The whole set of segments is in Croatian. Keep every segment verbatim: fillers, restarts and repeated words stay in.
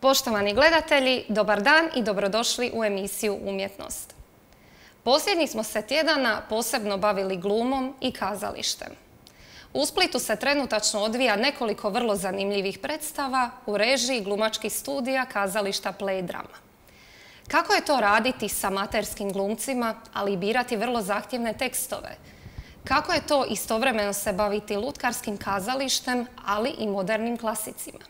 Poštovani gledatelji, dobar dan i dobrodošli u emisiju Umjetnost. Posljednjih smo se tjedana posebno bavili glumom i kazalištem. U Splitu se trenutačno odvija nekoliko vrlo zanimljivih predstava u režiji glumačkih studija kazališta Play Drama. Kako je to raditi sa amaterskim glumcima, ali i birati vrlo zahtjevne tekstove? Kako je to istovremeno se baviti lutkarskim kazalištem, ali i modernim klasicima?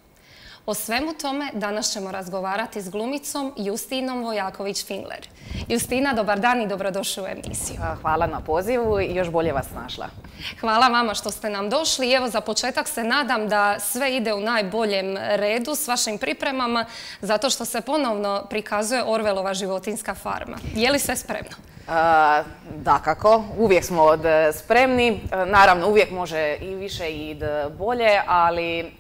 O svemu tome danas ćemo razgovarati s glumicom Justinom Vojaković-Fingler. Justina, dobar dan i dobrodošli u emisiju. Hvala na pozivu i još bolje vas našla. Hvala vama što ste nam došli. Evo, za početak se nadam da sve ide u najboljem redu s vašim pripremama, zato što se ponovno prikazuje Orwellova životinjska farma. Je li sve spremno? Dakako, uvijek smo spremni. Naravno, uvijek može i više i bolje, ali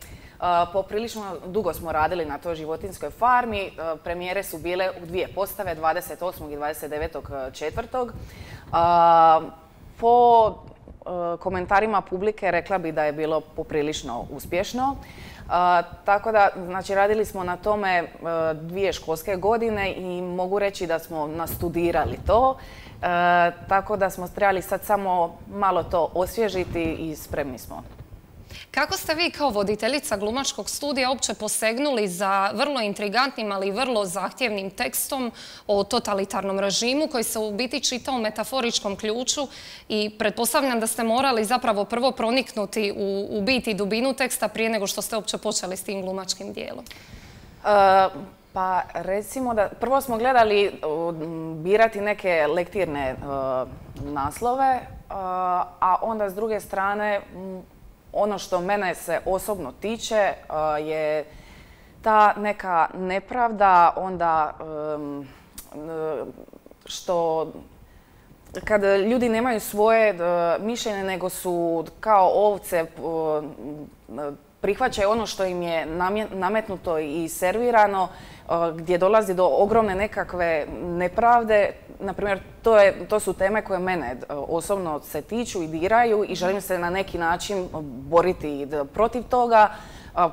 poprilično dugo smo radili na toj životinjskoj farmi. Premijere su bile u dvije postave, dvadeset osmog i dvadeset devetog četvrtog Po komentarima publike rekla bi da je bilo poprilično uspješno. Tako da, znači, radili smo na tome dvije školske godine i mogu reći da smo nastudirali to. Tako da smo trebali sad samo malo to osvježiti i spremni smo. Kako ste vi kao voditeljica glumačkog studija uopće posegnuli za vrlo intrigantnim, ali i vrlo zahtjevnim tekstom o totalitarnom režimu koji se u biti čita u metaforičkom ključu i pretpostavljam da ste morali zapravo prvo proniknuti u, u bit i dubinu teksta prije nego što ste uopće počeli s tim glumačkim dijelom? Uh, pa recimo da prvo smo gledali uh, birati neke lektirne uh, naslove, uh, a onda s druge strane ono što mene se osobno tiče je ta neka nepravda, onda što kad ljudi nemaju svoje mišljenje nego su kao ovce, prihvaćaju ono što im je nametnuto i servirano, gdje dolazi do ogromne nekakve nepravde. Naprimjer, to, je, to su teme koje mene osobno se tiču i diraju i želim se na neki način boriti protiv toga,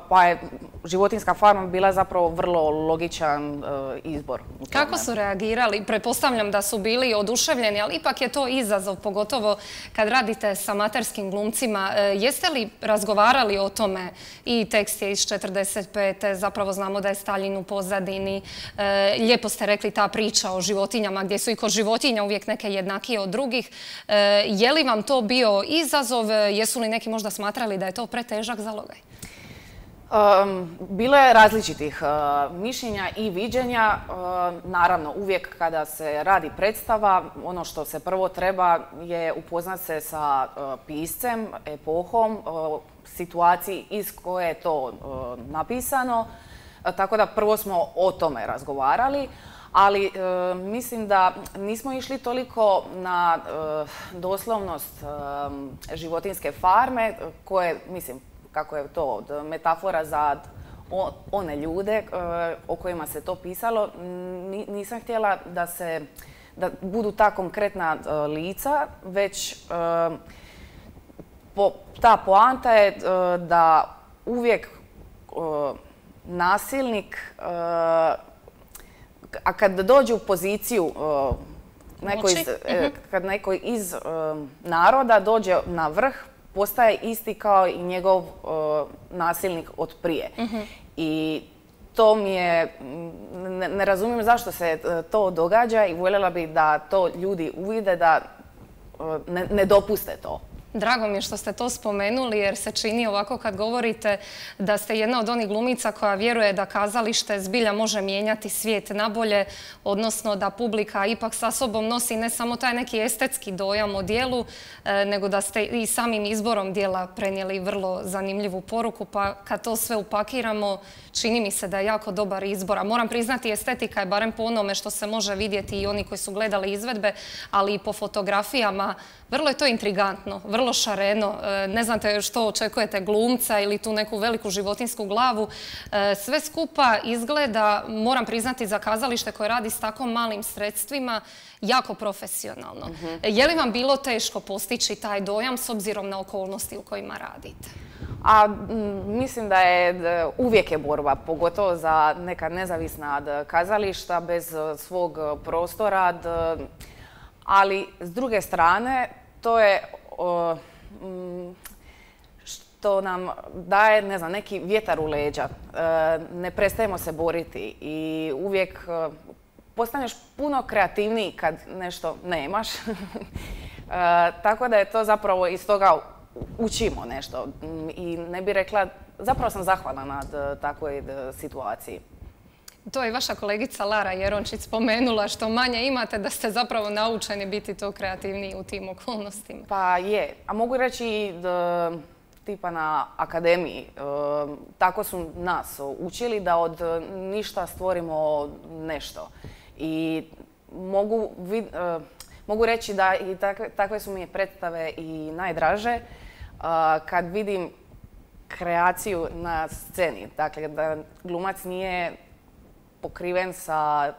pa je životinjska farma bila zapravo vrlo logičan izbor. Kako su reagirali? Pretpostavljam da su bili oduševljeni, ali ipak je to izazov, pogotovo kad radite s amaterskim glumcima. Jeste li razgovarali o tome? I tekst je iz četrdeset pete zapravo znamo da je Staljin u pozadini. Lijepo ste rekli ta priča o životinjama, gdje su i kod životinja uvijek neke jednakije od drugih. Je li vam to bio izazov? Jesu li neki možda smatrali da je to pretežak zalogaj? Um, bilo je različitih uh, mišljenja i viđenja. Uh, naravno, uvijek kada se radi predstava, ono što se prvo treba je upoznat se sa uh, piscem, epohom, uh, situaciji iz koje je to uh, napisano. Uh, tako da prvo smo o tome razgovarali. Ali uh, mislim da nismo išli toliko na uh, doslovnost uh, životinjske farme, koje, mislim, kako je to metafora za one ljude o kojima se to pisalo. Nisam htjela da se da budu ta konkretna lica, već ta poanta je da uvijek nasilnik, a kad dođe u poziciju neko iz, kad neko iz naroda dođe na vrh, postaje isti kao i njegov uh, nasilnik od prije. Uh-huh. I to mi je, ne, ne razumijem zašto se uh, to događa i voljela bi da to ljudi uvide, da uh, ne, ne dopuste to. Drago mi je što ste to spomenuli jer se čini ovako kad govorite da ste jedna od onih glumica koja vjeruje da kazalište zbilja može mijenjati svijet nabolje, odnosno da publika ipak sa sobom nosi ne samo taj neki estetski dojam o dijelu, nego da ste i samim izborom dijela prenijeli vrlo zanimljivu poruku, pa kad to sve upakiramo čini mi se da je jako dobar izbor. A moram priznati, estetika je barem po onome što se može vidjeti i oni koji su gledali izvedbe, ali i po fotografijama. Vrlo je to intrigantno, vrlo šareno. Ne znate što očekujete, glumca ili tu neku veliku životinsku glavu. Sve skupa izgleda, moram priznati, za kazalište koje radi s tako malim sredstvima, jako profesionalno. Je li vam bilo teško postići taj dojam s obzirom na okolnosti u kojima radite? A mislim da je uvijek je borba, pogotovo za neka nezavisna kazališta bez svog prostora, ali s druge strane to je što nam daje, ne znam, neki vjetar u leđa. Ne prestajemo se boriti i uvijek postaneš puno kreativniji kad nešto nemaš. Tako da je to zapravo iz toga učimo nešto i ne bih rekla, zapravo sam zahvalna nad takvoj situaciji. To je vaša kolegica Lara Jerončić spomenula, što manje imate da ste zapravo naučeni biti to kreativniji u tim okolnostima. Pa je, a mogu reći da, tipa na akademiji, tako su nas učili da od ništa stvorimo nešto. I mogu, mogu reći da i takve, takve su mi predstave i najdraže kad vidim kreaciju na sceni. Dakle, da glumac nije pokriven sa,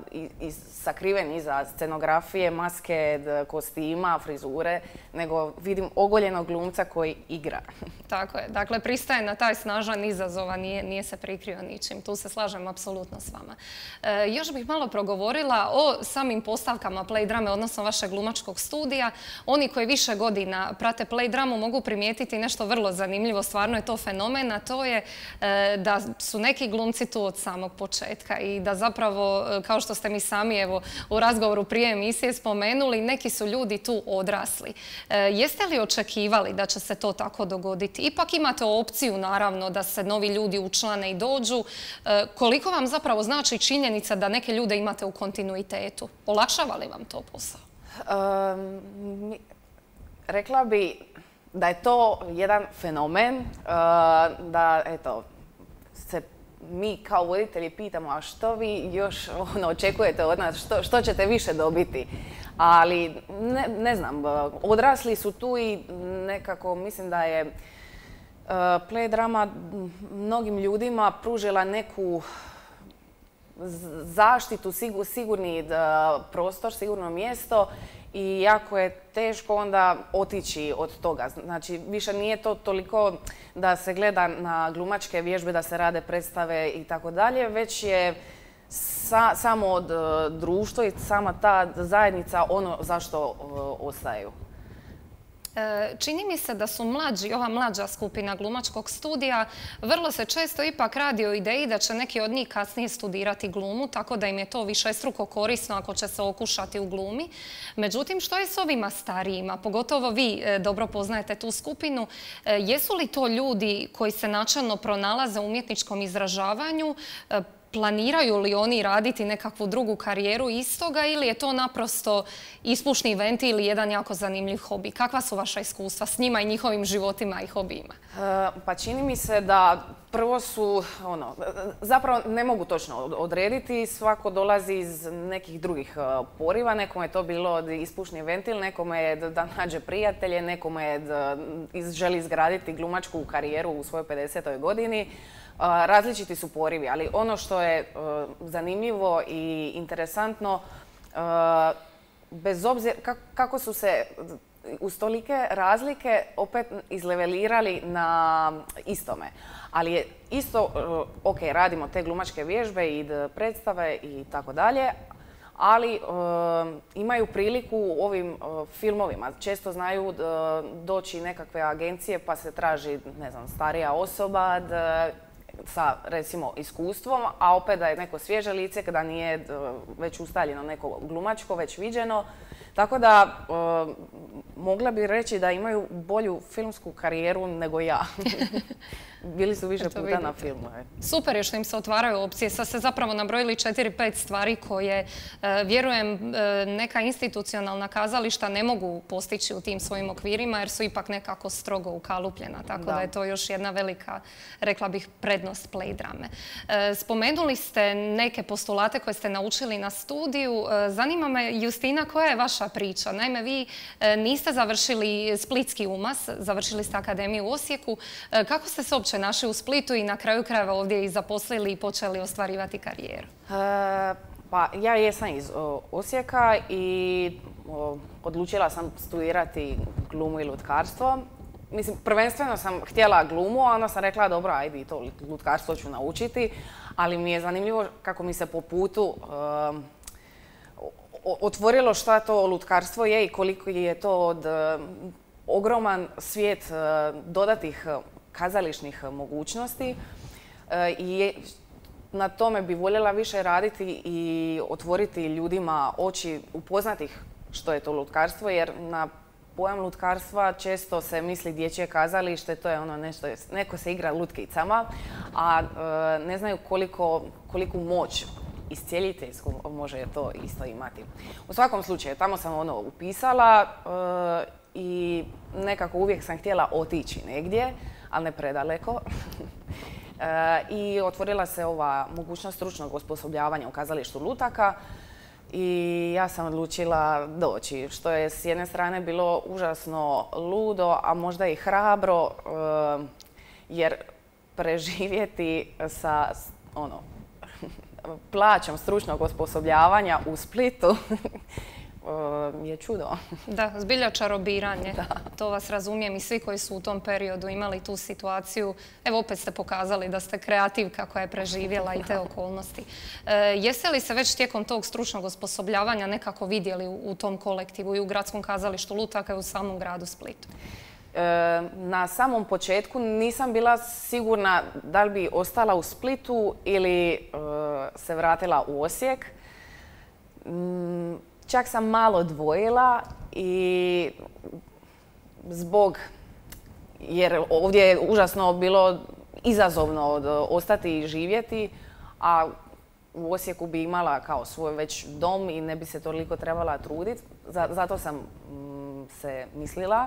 sakriven iza scenografije, maske, kostima, frizure, nego vidim ogoljenog glumca koji igra. Tako je. Dakle, pristaje na taj snažan izazov, nije, nije se prikrio ničim. Tu se slažem apsolutno s vama. E, još bih malo progovorila o samim postavkama play drame, odnosno vašeg glumačkog studija. Oni koji više godina prate play dramu mogu primijetiti nešto vrlo zanimljivo, stvarno je to fenomen, a to je e, da su neki glumci tu od samog početka i da zapravo, kao što ste mi sami evo, u razgovoru prije emisije spomenuli, neki su ljudi tu odrasli. E, jeste li očekivali da će se to tako dogoditi? Ipak imate opciju, naravno, da se novi ljudi učlane i dođu. E, koliko vam zapravo znači činjenica da neke ljude imate u kontinuitetu? Olakšava li vam to posao? Um, rekla bi da je to jedan fenomen, uh, da eto, se mi kao voditelji pitamo a što vi još ono, očekujete od nas, što, što ćete više dobiti. Ali ne, ne znam, odrasli su tu i nekako mislim da je uh, play drama mnogim ljudima pružila neku zaštitu, sigur, sigurni uh, prostor, sigurno mjesto i jako je teško onda otići od toga. Znači, više nije to toliko da se gleda na glumačke vježbe, da se rade predstave i tako dalje, već je sa, samo od uh, društva i sama ta zajednica ono zašto uh, ostaju. Čini mi se da su mlađi, ova mlađa skupina glumačkog studija, vrlo se često ipak radi o ideji da će neki od njih kasnije studirati glumu, tako da im je to višestruko korisno ako će se okušati u glumi. Međutim, što je s ovima starijima? Pogotovo vi dobro poznajete tu skupinu. Jesu li to ljudi koji se načelno pronalaze u umjetničkom izražavanju? Planiraju li oni raditi nekakvu drugu karijeru iz toga ili je to naprosto ispušni ventil ili jedan jako zanimljiv hobi? Kakva su vaša iskustva s njima i njihovim životima i hobijima? E, pa čini mi se da prvo su, ono, zapravo ne mogu točno odrediti, svako dolazi iz nekih drugih poriva, nekome je to bilo ispušni ventil, nekome je da nađe prijatelje, nekome je da želi izgraditi glumačku karijeru u svojoj pedesetoj godini. Različiti su porivi, ali ono što je zanimljivo i interesantno, bez obzira kako su se uz tolike razlike opet izlevelirali na istome. Ali je isto, ok, radimo te glumačke vježbe i predstave i tako dalje, ali imaju priliku u ovim filmovima. Često znaju doći nekakve agencije pa se traži, ne znam, starija osoba sa, recimo, iskustvom, a opet da je neko svježe lice, kada nije već ustaljeno neko glumačko, već viđeno. Tako da, e, mogla bi reći da imaju bolju filmsku karijeru nego ja. Bili su više puta na filmu. Super je što im se otvaraju opcije. Sad ste zapravo nabrojili četiri, pet stvari koje, e, vjerujem, e, neka institucionalna kazališta ne mogu postići u tim svojim okvirima jer su ipak nekako strogo ukalupljena. Tako da, da je to još jedna velika, rekla bih, prednost play drame. E, spomenuli ste neke postulate koje ste naučili na studiju. E, zanima me, Justina, koja je vaša priča? Naime, vi e, niste završili Splitski UMAS, završili ste Akademiju u Osijeku. E, kako ste se uopće našli u Splitu i na kraju krajeva ovdje i zaposlili i počeli ostvarivati karijeru? E, pa ja jesam iz o, Osijeka i o, odlučila sam studirati glumu i lutkarstvo. mislim, prvenstveno sam htjela glumu, a onda sam rekla, dobro, ajde i to lutkarstvo ću naučiti, ali mi je zanimljivo kako mi se po putu um, otvorilo šta to lutkarstvo je i koliko je to od um, ogroman svijet uh, dodatih kazališnih mogućnosti uh, i na tome bi voljela više raditi i otvoriti ljudima oči, upoznati ih što je to lutkarstvo, jer na pojam lutkarstva često se misli dječje kazalište, to je ono nešto, neko se igra lutkicama, a e, ne znaju koliko, koliku moć iscijeliteljsku može to isto imati. U svakom slučaju, tamo sam ono upisala e, i nekako uvijek sam htjela otići negdje, ali ne predaleko. e, I otvorila se ova mogućnost stručnog osposobljavanja u kazalištu lutaka. I ja sam odlučila doći, što je s jedne strane bilo užasno ludo, a možda i hrabro, jer preživjeti sa ono, plaćom stručnog osposobljavanja u Splitu je čudo. Da, zbilja čarobiranje. To vas razumijem i svi koji su u tom periodu imali tu situaciju. Evo, opet ste pokazali da ste kreativka koja je preživjela i te okolnosti. E, jeste li se već tijekom tog stručnog osposobljavanja nekako vidjeli u, u tom kolektivu i u Gradskom kazalištu lutaka i u samom gradu Splitu? E, na samom početku nisam bila sigurna da li bi ostala u Splitu ili e, se vratila u Osijek. Mm, Čak sam malo dvojila i zbog, jer ovdje je užasno bilo izazovno ostati i živjeti, a u Osijeku bi imala kao svoj već dom i ne bi se toliko trebala truditi. Zato sam se mislila.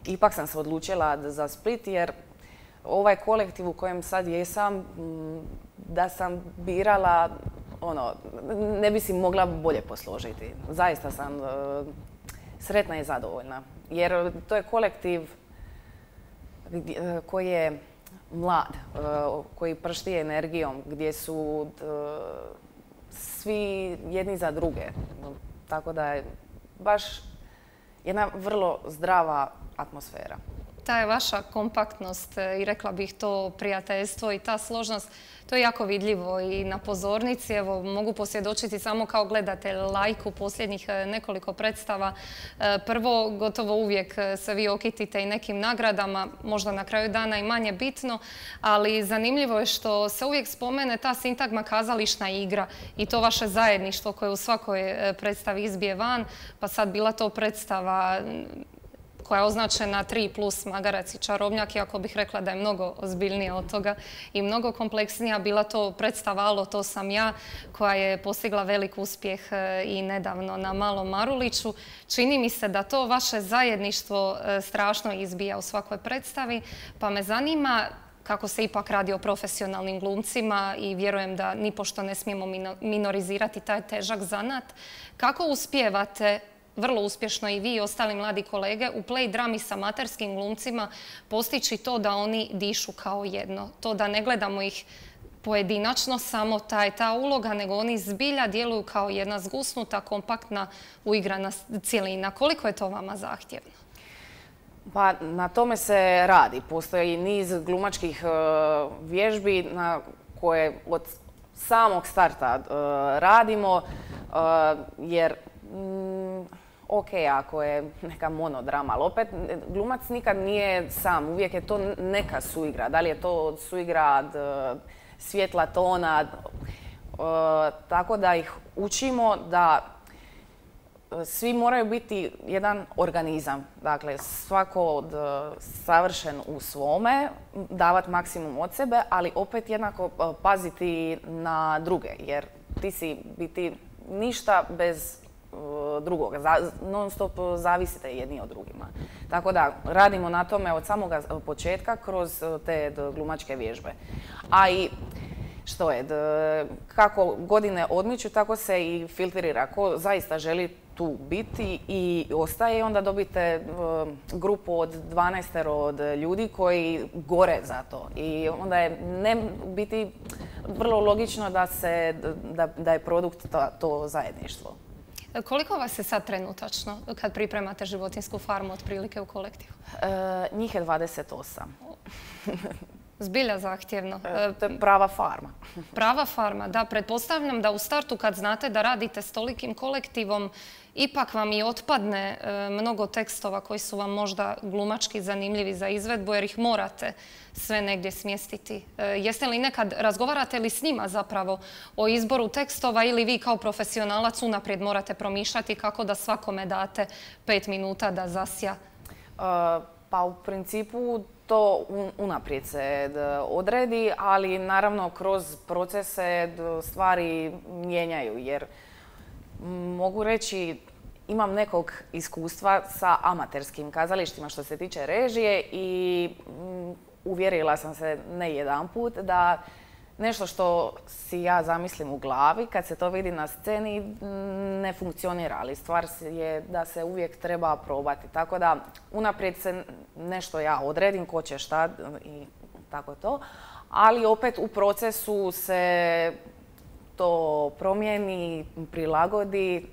Ipak sam se odlučila za Split jer ovaj kolektiv u kojem sad jesam, da sam birala, ono, ne bi si mogla bolje posložiti. Zaista sam uh, sretna i zadovoljna. Jer to je kolektiv gdje, uh, koji je mlad, uh, koji pršti energijom, gdje su uh, svi jedni za druge. Tako da je baš jedna vrlo zdrava atmosfera. Ta je vaša kompaktnost i rekla bih to prijateljstvo i ta složnost, to je jako vidljivo i na pozornici. Evo, mogu posvjedočiti samo kao gledatelj lajku posljednjih nekoliko predstava. Prvo, gotovo uvijek se vi okitite i nekim nagradama, možda na kraju dana i manje bitno, ali zanimljivo je što se uvijek spomene ta sintagma kazališna igra i to vaše zajedništvo koje u svakoj predstavi izbije van, pa sad bila to predstava koja je označena tri plus Magarac i Čarobnjak, iako bih rekla da je mnogo ozbiljnija od toga i mnogo kompleksnija. Bila to predstava Alo, to sam ja, koja je postigla velik uspjeh i nedavno na Malom Maruliću. Čini mi se da to vaše zajedništvo strašno izbija u svakoj predstavi, pa me zanima kako se ipak radi o profesionalnim glumcima i vjerujem da nipošto ne smijemo minorizirati taj težak zanat. Kako uspijevate vrlo uspješno i vi i ostali mladi kolege u play drami sa amaterskim glumcima postići to da oni dišu kao jedno? To da ne gledamo ih pojedinačno, samo ta je ta uloga, nego oni zbilja djeluju kao jedna zgusnuta, kompaktna, uigrana cjelina. Koliko je to vama zahtjevno? Pa na tome se radi. Postoji niz glumačkih uh, vježbi na koje od samog starta uh, radimo, uh, jer mm, ok, ako je neka monodrama, ali opet glumac nikad nije sam, uvijek je to neka suigra. Da li je to suigra uh, svjetla tona, uh, tako da ih učimo da svi moraju biti jedan organizam. Dakle, svako od, savršen u svome, davati maksimum od sebe, ali opet jednako paziti na druge, jer ti si biti ništa bez uh, drugoga. Za, non stop zavisite jedni od drugima. Tako da radimo na tome od samoga početka kroz te glumačke vježbe. A i što je, kako godine odmiču, tako se i filtrira. Ko zaista želi tu biti i ostaje, i onda dobite grupu od dvanaestero od ljudi koji gore za to. I onda je ne biti vrlo logično da, se, da, da je produkt to, to zajedništvo. Koliko vas je sad trenutačno kad pripremate životinjsku farmu otprilike u kolektivu? E, njih je dvadeset osam. Zbilja zahtjevno. E, to je prava farma. Prava farma, da. Pretpostavljam da u startu kad znate da radite s tolikim kolektivom, ipak vam i otpadne e, mnogo tekstova koji su vam možda glumački zanimljivi za izvedbu jer ih morate sve negdje smjestiti. E, jeste li nekad, razgovarate li s njima zapravo o izboru tekstova ili vi kao profesionalac unaprijed morate promišljati kako da svakome date pet minuta da zasja? E, pa u principu to unaprijed se odredi, ali naravno kroz procese stvari mijenjaju jer mogu reći imam nekog iskustva sa amaterskim kazalištima što se tiče režije i uvjerila sam se ne jedanput da nešto što si ja zamislim u glavi kad se to vidi na sceni ne funkcionira, ali stvar je da se uvijek treba probati. Tako da unaprijed se nešto ja odredim ko će šta i tako to, ali opet u procesu se to promijeni, prilagodi,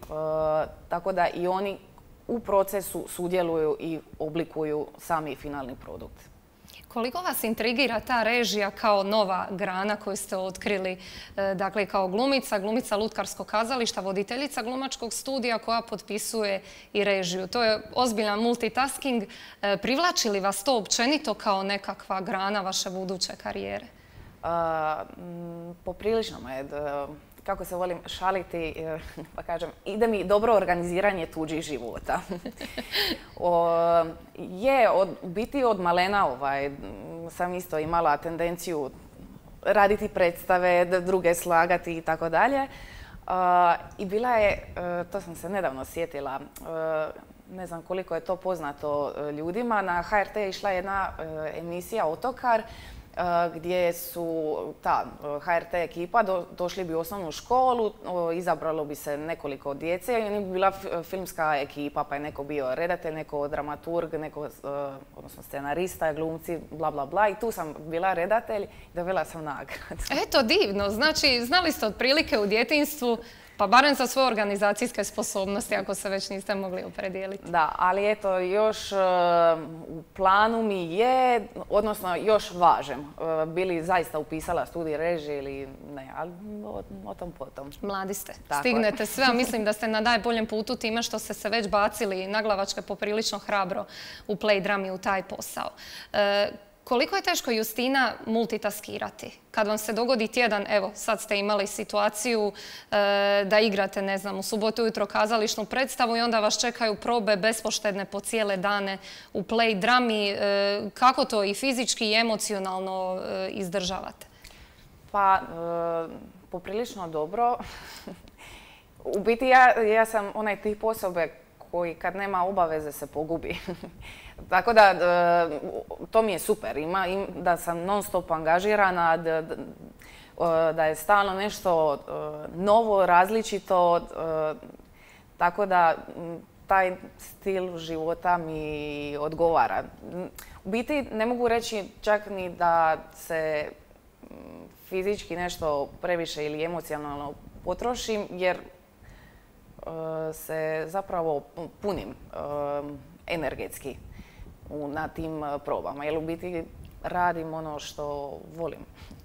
tako da i oni u procesu sudjeluju i oblikuju sami finalni produkt. Koliko vas intrigira ta režija kao nova grana koju ste otkrili, dakle kao glumica, glumica lutkarskog kazališta, voditeljica glumačkog studija koja potpisuje i režiju? To je ozbiljan multitasking. Privlači li vas to općenito kao nekakva grana vaše buduće karijere? Poprilično me, kako se volim šaliti, pa kažem, ide mi dobro organiziranje tuđih života. o, je, od, biti od malena ovaj, sam isto imala tendenciju raditi predstave, druge slagati i tako dalje. I bila je, to sam se nedavno sjetila, ne znam koliko je to poznato ljudima, na ha er te je išla jedna emisija Otokar, gdje su ta ha er te ekipa do, došli bi u osnovnu školu, izabralo bi se nekoliko djece i oni bi bila filmska ekipa, pa je neko bio redatelj, neko dramaturg, neko, odnosno scenarista, glumci, bla bla bla. I tu sam bila redatelj i dobila sam nagradu. Eto, divno. Znači, znali ste otprilike u djetinjstvu, pa barem za svoje organizacijske sposobnosti, ako se već niste mogli opredijeliti. Da, ali eto, još uh, u planu mi je, odnosno još važem, uh, bili zaista upisala studij režije ili ne, ali o, o tom potom. Mladi ste, tako stignete je. Sve, a mislim da ste na najboljem putu time što ste se već bacili naglavačke poprilično hrabro u play drami u taj posao. Uh, Koliko je teško, Justina, multitaskirati? Kad vam se dogodi tjedan, evo, sad ste imali situaciju e, da igrate, ne znam, u subotu ujutro kazališnu predstavu i onda vas čekaju probe bespoštedne po cijele dane u play drami. E, kako to i fizički i emocionalno e, izdržavate? Pa, e, poprilično dobro. U biti, ja, ja sam onaj tip osobe koji kad nema obaveze se pogubi. Tako da, to mi je super. Ima, da sam non stop angažirana, da, da je stalno nešto novo, različito. Tako da, taj stil života mi odgovara. U biti, ne mogu reći čak ni da se fizički nešto previše ili emocionalno potrošim, jer se zapravo punim energetski na tim probama, jer u biti radim ono što volim.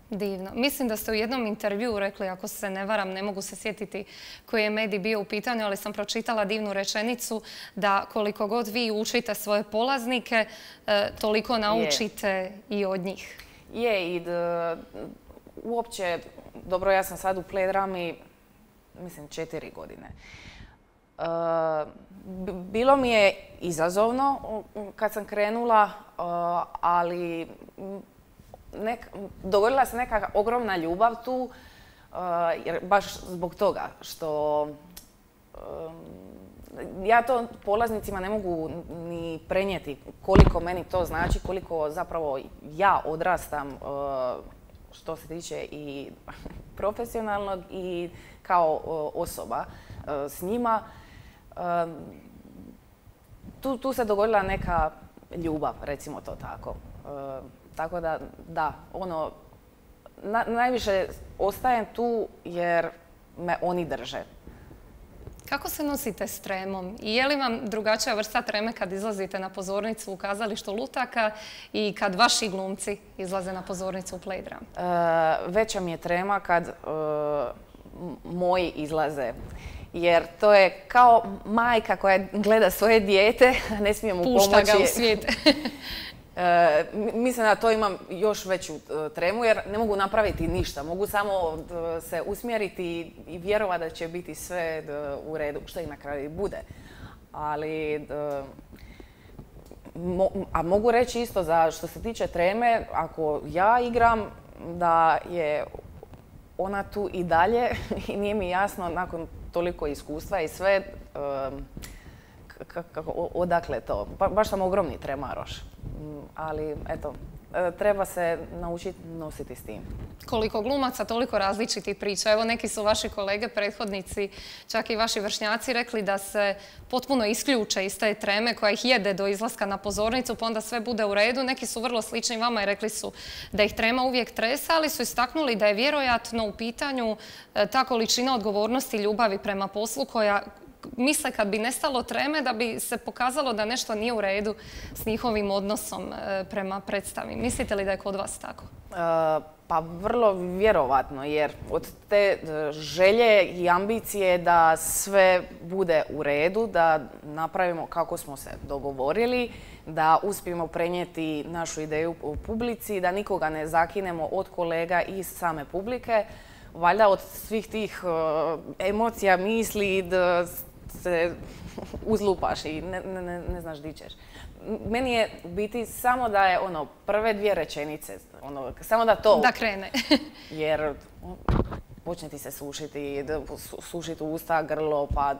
Divno. Mislim da ste u jednom intervjuu rekli, ako se ne varam, ne mogu se sjetiti koji je medij bio u pitanju, ali sam pročitala divnu rečenicu da koliko god vi učite svoje polaznike, toliko naučite je. I od njih. Je, i d, uopće, dobro, ja sam sad u play drami, mislim, četiri godine. Uh, bilo mi je izazovno kad sam krenula, uh, ali nek, dogodila se neka ogromna ljubav tu, uh, jer baš zbog toga što um, ja to polaznicima ne mogu ni prenijeti koliko meni to znači, koliko zapravo ja odrastam uh, što se tiče i profesionalnog i kao uh, osoba uh, s njima. Um, tu, tu se dogodila neka ljubav, recimo to tako. Uh, tako da, da, ono, na, najviše ostajem tu jer me oni drže. Kako se nosite s tremom? I je li vam drugačija vrsta treme kad izlazite na pozornicu u kazalištu Lutaka i kad vaši glumci izlaze na pozornicu u Play Drum? E, veća mi je trema kad e, moji izlaze. Jer to je kao majka koja gleda svoje dijete, ne smije mu pomoći. Pušta ga u svijet. E, mislim da to imam još veću e, tremu jer ne mogu napraviti ništa. Mogu samo e, se usmjeriti i vjerovati da će biti sve e, u redu, što i na kraju bude. Ali, e, mo, a mogu reći isto za što se tiče treme, ako ja igram da je ona tu i dalje i nije mi jasno nakon toliko iskustva i sve e, kako, odakle to. Ba, baš sam ogromni tremaroš. Ali, eto, treba se naučiti nositi s tim. Koliko glumaca, toliko različitih priča. Evo, neki su vaši kolege, prethodnici, čak i vaši vršnjaci rekli da se potpuno isključe iz te treme koja ih jede do izlaska na pozornicu, pa onda sve bude u redu. Neki su vrlo slični vama i rekli su da ih trema uvijek tresa, ali su istaknuli da je vjerojatno u pitanju ta količina odgovornosti i ljubavi prema poslu koja misle kad bi nestalo treme da bi se pokazalo da nešto nije u redu s njihovim odnosom prema predstavi. Mislite li da je kod vas tako? E, pa vrlo vjerovatno, jer od te želje i ambicije da sve bude u redu, da napravimo kako smo se dogovorili, da uspijemo prenijeti našu ideju u publici, da nikoga ne zakinemo od kolega i same publike, valjda od svih tih uh, emocija, misli, da se uzlupaš i ne, ne, ne znaš di ćeš. Meni je biti samo da je ono prve dvije rečenice, ono, samo da to... Da krene. Jer počne ti se sušiti, sušiti usta, grlo, pa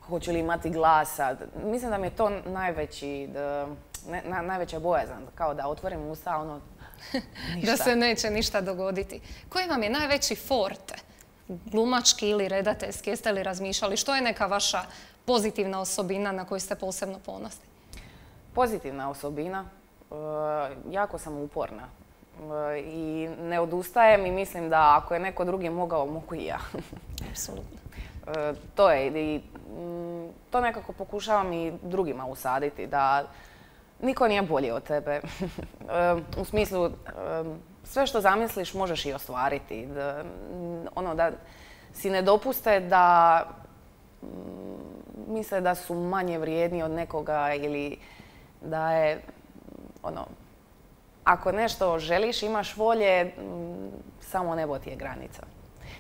hoću li imati glasa. Mislim da mi je to najveći, da, ne, na, najveća bojazan, kao da otvorim usta, ono, ništa. Da se neće ništa dogoditi. Koji vam je najveći forte? Glumački ili redateljski? Jeste li razmišljali? Što je neka vaša pozitivna osobina na koju ste posebno ponosni? Pozitivna osobina. E, jako sam uporna. E, I ne odustajem i mislim da ako je neko drugi mogao, mogu i ja. Apsolutno. E, to je. I m, to nekako pokušavam i drugima usaditi. Da niko nije bolji od tebe. E, u smislu, e, sve što zamisliš možeš i ostvariti. Da, ono da si ne dopuste da m, misle da su manje vrijedni od nekoga ili da je, ono, ako nešto želiš, imaš volje, m, samo nebo ti je granica.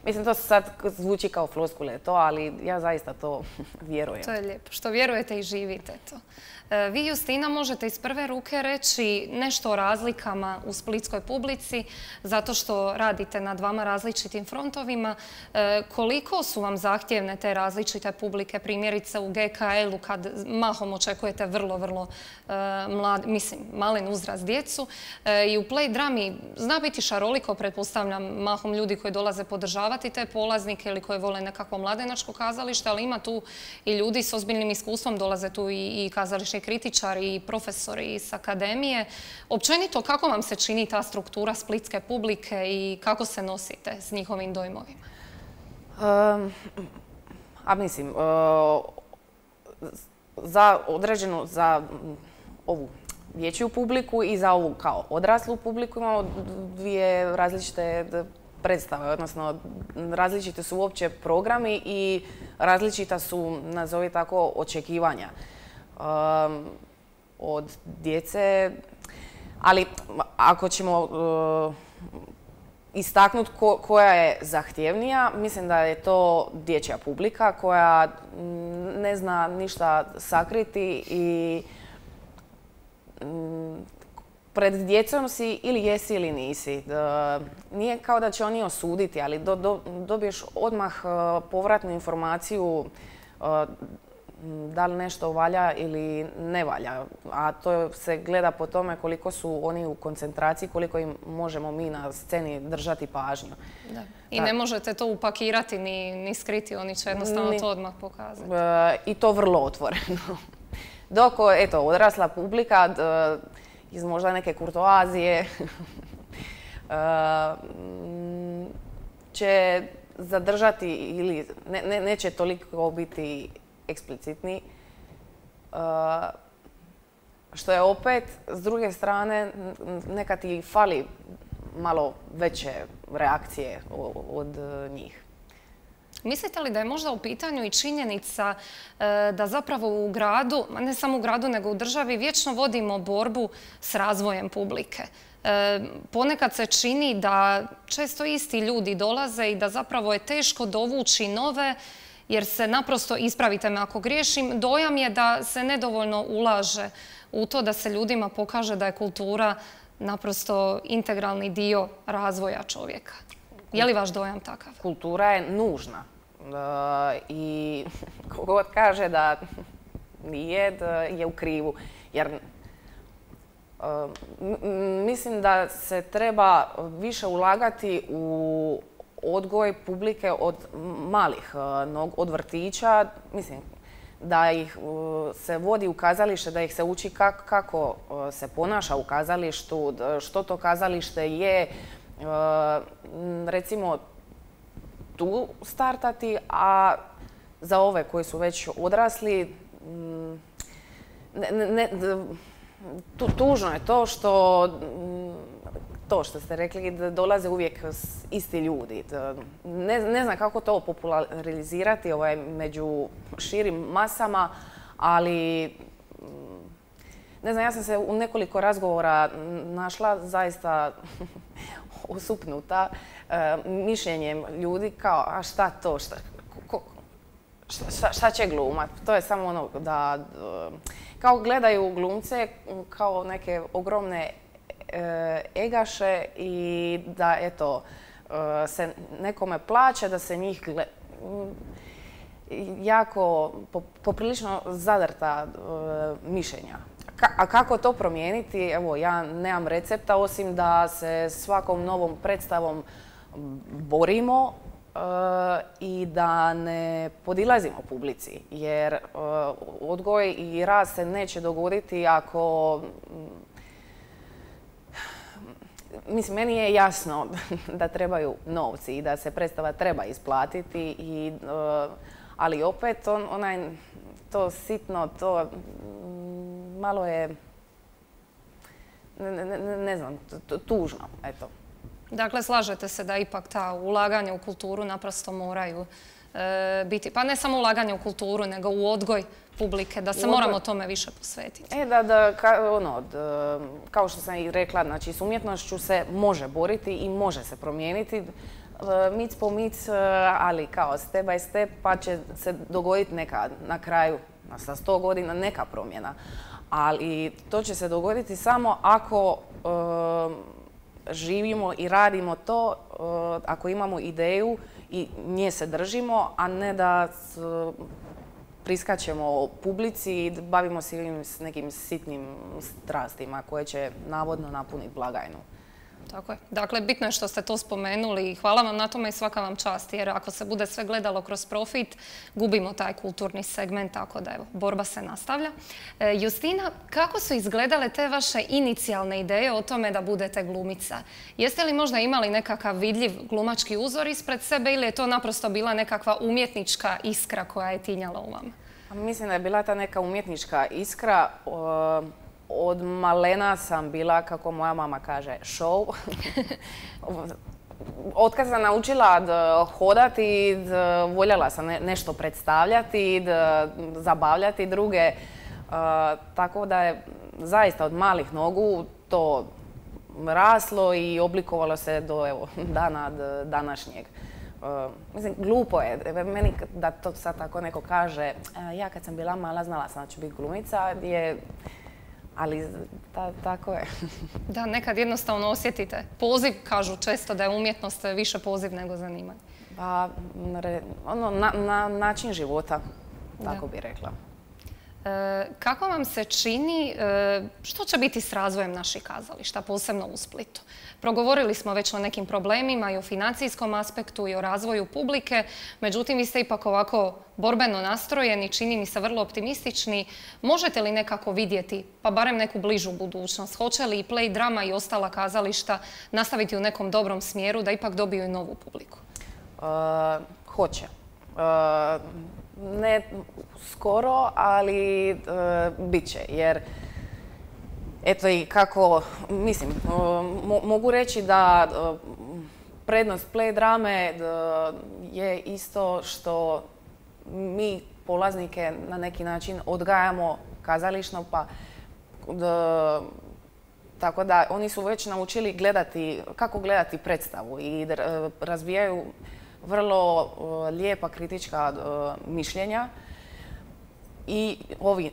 Mislim, to sad zvuči kao floskule to, ali ja zaista to vjerujem. To je lijepo. Što vjerujete i živite to. Vi, Justina, možete iz prve ruke reći nešto o razlikama u splitskoj publici, zato što radite na dvama različitim frontovima. Koliko su vam zahtjevne te različite publike, primjerice u G K L-u, kad mahom očekujete vrlo, vrlo mlad, mislim, malen uzrast djecu. I u Play Drami zna biti šaroliko, pretpostavljam, mahom ljudi koji dolaze podržavati te polaznike ili koji vole nekakvo mladenačko kazalište, ali ima tu i ljudi s ozbiljnim iskustvom, dolaze tu i, i kazališni kritičari i profesori iz akademije. Općenito, kako vam se čini ta struktura splitske publike i kako se nosite s njihovim dojmovima? Um, a mislim, uh, za određenu, za ovu dječju publiku i za ovu kao odraslu publiku imamo dvije različite predstave, odnosno različiti su uopće programi i različita su, nazovi tako, očekivanja um, od djece. Ali ako ćemo uh, istaknuti ko, koja je zahtjevnija, mislim da je to dječja publika koja ne zna ništa sakriti i um, pred djecom si ili jesi ili nisi. Nije kao da će oni osuditi, ali do, do, dobiješ odmah povratnu informaciju da li nešto valja ili ne valja. A to se gleda po tome koliko su oni u koncentraciji, koliko im možemo mi na sceni držati pažnju. Da. I ne možete to upakirati ni, ni skriti, oni će jednostavno ni, to odmah pokazati. I to vrlo otvoreno. Dok, eto, odrasla publika iz možda neke kurtoazije će zadržati ili ne, ne, neće toliko biti eksplicitni. Uh, što je opet, s druge strane, neka ti fali malo veće reakcije od njih. Mislite li da je možda u pitanju i činjenica da zapravo u gradu, ne samo u gradu nego u državi, vječno vodimo borbu s razvojem publike? Ponekad se čini da često isti ljudi dolaze i da zapravo je teško dovući nove, jer se naprosto, ispravite me ako griješim, dojam je da se nedovoljno ulaže u to da se ljudima pokaže da je kultura naprosto integralni dio razvoja čovjeka. Je li vaš dojam takav? Kultura je nužna. I kogod kaže da nije, je u krivu. Jer mislim da se treba više ulagati u odgoj publike od malih, od vrtića. Mislim, da ih se vodi u kazalište, da ih se uči kako se ponaša u kazalištu, što to kazalište je. Recimo, tu startati, a za ove koji su već odrasli, ne, ne, tu, tužno je to što, to što ste rekli, da dolaze uvijek isti ljudi. Ne, ne znam kako to popularizirati ovaj, među širim masama, ali ne znam, ja sam se u nekoliko razgovora našla zaista osupnuta e, mišljenjem ljudi kao, a šta to, šta, ko, šta, šta će glumat? To je samo ono da, kao gledaju glumce kao neke ogromne e, egaše i da, eto, e, se nekome plaća da se njih gleda. Jako, poprilično zadrta e, mišljenja. A kako to promijeniti? Evo, ja nemam recepta, osim da se svakom novom predstavom borimo uh, i da ne podilazimo publici. Jer uh, odgoj i rast se neće dogoditi ako... Mislim, meni je jasno da trebaju novci i da se predstava treba isplatiti, i, uh, ali opet on, onaj, to sitno, to... malo je, ne, ne, ne znam, tužno, eto. Dakle, slažete se da ipak ta ulaganja u kulturu naprosto moraju e, biti, pa ne samo ulaganje u kulturu, nego u odgoj publike, da se moramo tome više posvetiti. E, da, da, ka, ono, da, kao što sam i rekla, znači, s umjetnošću se može boriti i može se promijeniti, mic po mic, ali kao step by step, pa će se dogoditi neka na kraju, sa sto godina, neka promjena. Ali to će se dogoditi samo ako e, živimo i radimo to, e, ako imamo ideju i nje se držimo, a ne da s, priskačemo publici i bavimo se s nekim sitnim strastima koje će navodno napuniti blagajnu. Tako je. Dakle, bitno je što ste to spomenuli i hvala vam na tome i svaka vam čast, jer ako se bude sve gledalo kroz profit, gubimo taj kulturni segment, tako da evo, borba se nastavlja. E, Justina, kako su izgledale te vaše inicijalne ideje o tome da budete glumica? Jeste li možda imali nekakav vidljiv glumački uzor ispred sebe ili je to naprosto bila nekakva umjetnička iskra koja je tinjala u vama? Mislim da je bila ta neka umjetnička iskra. O... Od malena sam bila, kako moja mama kaže, show. Otkad sam naučila da hodati, da voljela sam nešto predstavljati, da zabavljati druge. Uh, tako da je zaista od malih nogu to raslo i oblikovalo se do evo, dana današnjeg. Uh, mislim, glupo je. Meni da to sad tako neko kaže, ja kad sam bila mala znala sam da ću biti glumica, je... Ali ta, tako je. Da, nekad jednostavno osjetite poziv, kažu često da je umjetnost više poziv nego zanimanje. Pa, ono, na, na način života, tako bi rekla. E, kako vam se čini, e, što će biti s razvojem naših kazališta, posebno u Splitu? Progovorili smo već o nekim problemima i o financijskom aspektu i o razvoju publike, međutim vi ste ipak ovako borbeno nastrojeni, čini mi se vrlo optimistični. Možete li nekako vidjeti, pa barem neku bližu budućnost? Hoće li i Play Drama i ostala kazališta nastaviti u nekom dobrom smjeru da ipak dobiju i novu publiku? Hoće. Ne skoro, ali bit će. Jer, eto i kako, mislim, mogu reći da prednost play drame je isto što mi polaznike na neki način odgajamo kazališno, pa tako da oni su već naučili gledati, kako gledati predstavu i razvijaju vrlo lijepa kritička mišljenja. I ovi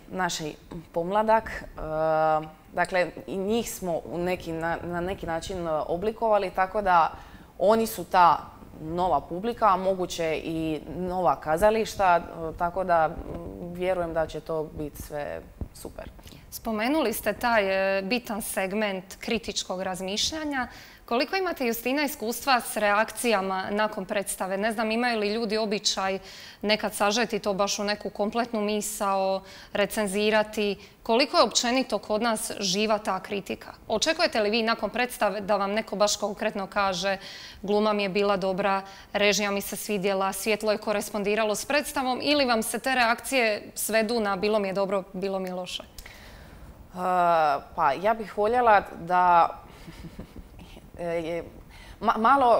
naši pomladak, dakle i njih smo na neki način oblikovali, tako da oni su ta nova publika, a moguće i nova kazališta, tako da vjerujem da će to biti sve super. Spomenuli ste taj bitan segment kritičkog razmišljanja. Koliko imate, Justina, iskustva s reakcijama nakon predstave? Ne znam, imaju li ljudi običaj nekad sažeti to baš u neku kompletnu misao, recenzirati? Koliko je općenito kod nas živa ta kritika? Očekujete li vi nakon predstave da vam neko baš konkretno kaže gluma mi je bila dobra, režija mi se svidjela, svjetlo je korespondiralo s predstavom, ili vam se te reakcije svedu na bilo mi je dobro, bilo mi je loše? Pa ja bih voljela da malo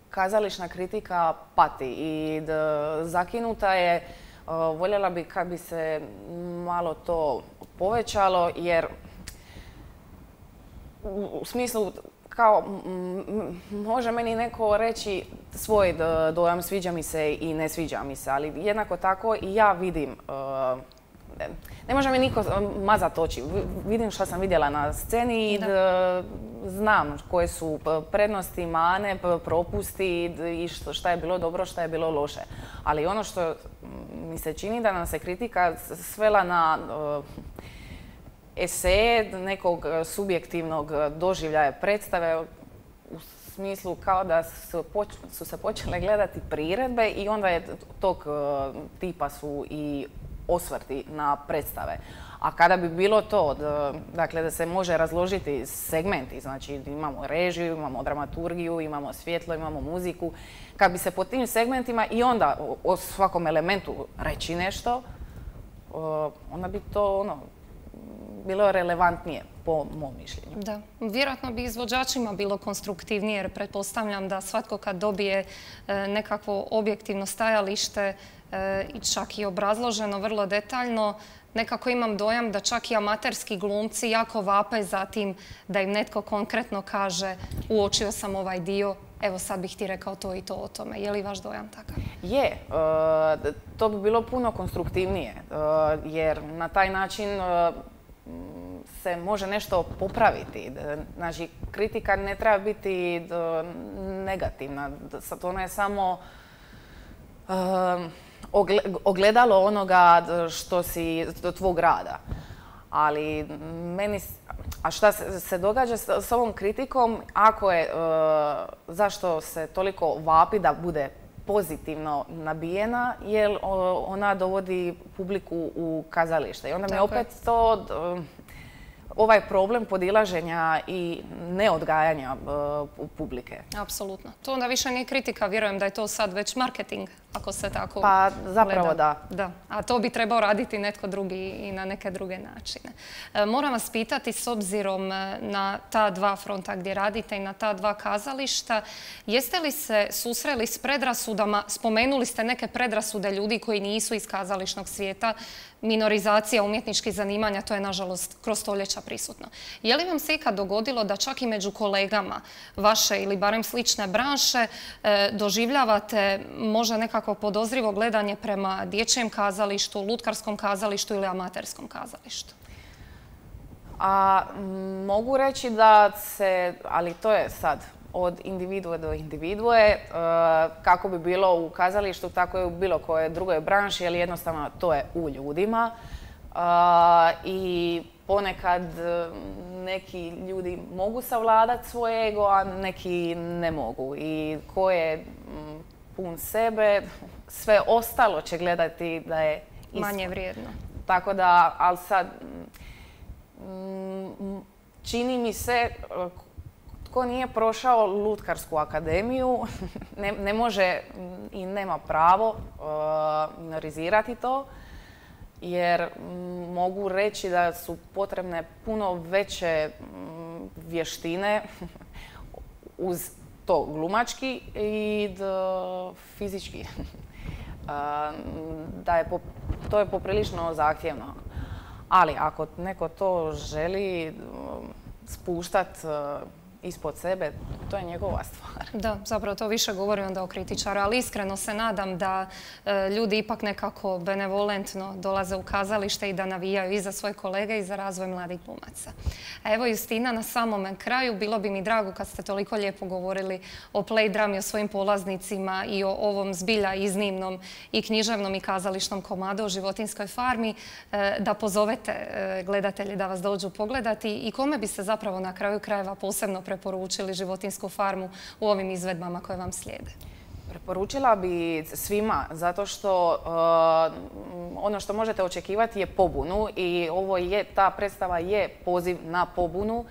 kazališna kritika pati i zakinuta je. Voljela bi kad bi se malo to povećalo, jer u smislu kao može meni neko reći svoj dojam, sviđa mi se i ne sviđa mi se, ali jednako tako i ja vidim. Ne može mi niko mazat oči. Vidim što sam vidjela na sceni i znam koje su prednosti, mane, propusti i šta je bilo dobro, šta je bilo loše. Ali ono što mi se čini da nam se kritika svela na eseje nekog subjektivnog doživljaja predstave, u smislu kao da su se počele gledati priredbe i onda je tog tipa su i osvrti na predstave. A kada bi bilo to, dakle da se može razložiti segmenti, znači imamo režiju, imamo dramaturgiju, imamo svjetlo, imamo muziku, kad bi se po tim segmentima i onda o svakom elementu reći nešto, onda bi to ono, bilo relevantnije po mom mišljenju. Da, vjerojatno bi izvođačima bilo konstruktivnije, jer pretpostavljam da svatko kad dobije nekakvo objektivno stajalište i čak i obrazloženo vrlo detaljno, nekako imam dojam da čak i amaterski glumci jako vape za tim da im netko konkretno kaže uočio sam ovaj dio, evo sad bih ti rekao to i to o tome. Je li vaš dojam takav? Je. To bi bilo puno konstruktivnije, jer na taj način se može nešto popraviti. Znači, kritika ne treba biti negativna. Ona je samo ogledalo onoga što si, tvog rada. Ali meni, a šta se događa s ovom kritikom, ako je, zašto se toliko vapi da bude pozitivno nabijena, jer ona dovodi publiku u kazalište. I onda mi opet to, ovaj problem podilaženja i neodgajanja publike. Apsolutno. To onda više nije kritika, vjerujem da je to sad već marketing, ako se tako Pa zapravo da. Da. A to bi trebao raditi netko drugi i na neke druge načine. Moram vas pitati, s obzirom na ta dva fronta gdje radite i na ta dva kazališta, jeste li se susreli s predrasudama, spomenuli ste neke predrasude ljudi koji nisu iz kazališnog svijeta, minorizacija umjetničkih zanimanja, to je nažalost kroz stoljeća prisutno. Je li vam se ikad dogodilo da čak i među kolegama vaše ili barem slične branše doživljavate možda nekako podozrivo gledanje prema dječjem kazalištu, lutkarskom kazalištu ili amaterskom kazalištu? A mogu reći da se, ali to je sad od individue do individue, kako bi bilo u kazalištu, tako je u bilo koje drugoj branši, jer jednostavno to je u ljudima. I ponekad neki ljudi mogu savladati svoj ego, a neki ne mogu. I ko je pun sebe, sve ostalo će gledati da je isto. Manje vrijedno. Tako da, ali sad, čini mi se, tko nije prošao Lutkarsku akademiju ne, ne može i nema pravo uh, minorizirati to, jer m, mogu reći da su potrebne puno veće m, vještine uz to glumački i d, fizički. Uh, da je po, to je poprilično zahtjevno. Ali ako neko to želi spuštati ispod sebe, to je njegova stvar. Da, zapravo to više govori onda o kritičaru, ali iskreno se nadam da e, ljudi ipak nekako benevolentno dolaze u kazalište i da navijaju i za svoje kolege i za razvoj mladih glumaca. A evo Justina, na samome kraju, bilo bi mi drago kad ste toliko lijepo govorili o play drami, o svojim polaznicima i o ovom zbilja iznimnom i književnom i kazališnom komadu o Životinjskoj farmi, e, da pozovete e, gledatelji da vas dođu pogledati i kome bi se zapravo na kraju krajeva posebno preporučili Životinjsku farmu u ovim izvedbama koje vam slijede? Preporučila bi svima, zato što uh, ono što možete očekivati je pobunu i ovo je, ta predstava je poziv na pobunu uh,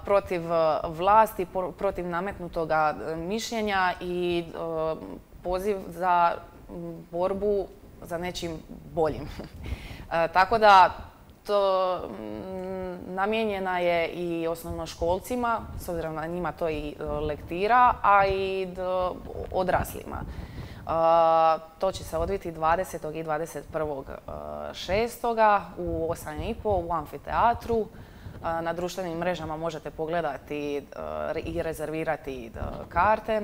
protiv vlasti, protiv nametnutoga mišljenja i uh, poziv za borbu za nečim boljim. uh, tako da to namijenjena je i osnovnoškolcima, s obzirom na njima to i lektira, a i odraslima. To će se odviti dvadesetog i dvadeset prvog šestoga u osam i pol u amfiteatru. Na društvenim mrežama možete pogledati i rezervirati karte.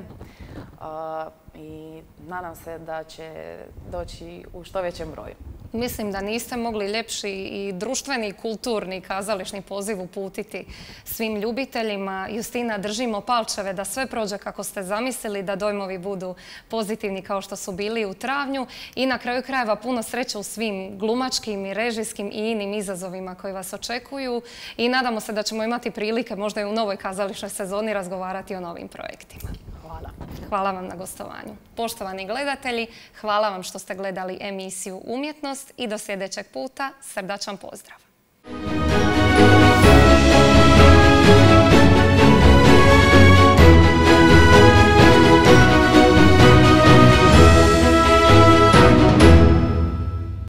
I nadam se da će doći u što većem broju. Mislim da niste mogli ljepši i društveni, kulturni, kazališni poziv uputiti svim ljubiteljima. Justina, držimo palčeve da sve prođe kako ste zamislili, da dojmovi budu pozitivni kao što su bili u travnju i na kraju krajeva puno sreće u svim glumačkim i režijskim i inim izazovima koji vas očekuju i nadamo se da ćemo imati prilike možda i u novoj kazališnoj sezoni razgovarati o novim projektima. Hvala. Hvala vam na gostovanju. Poštovani gledatelji, hvala vam što ste gledali emisiju Umjetnost i do sljedećeg puta srdačan pozdrav.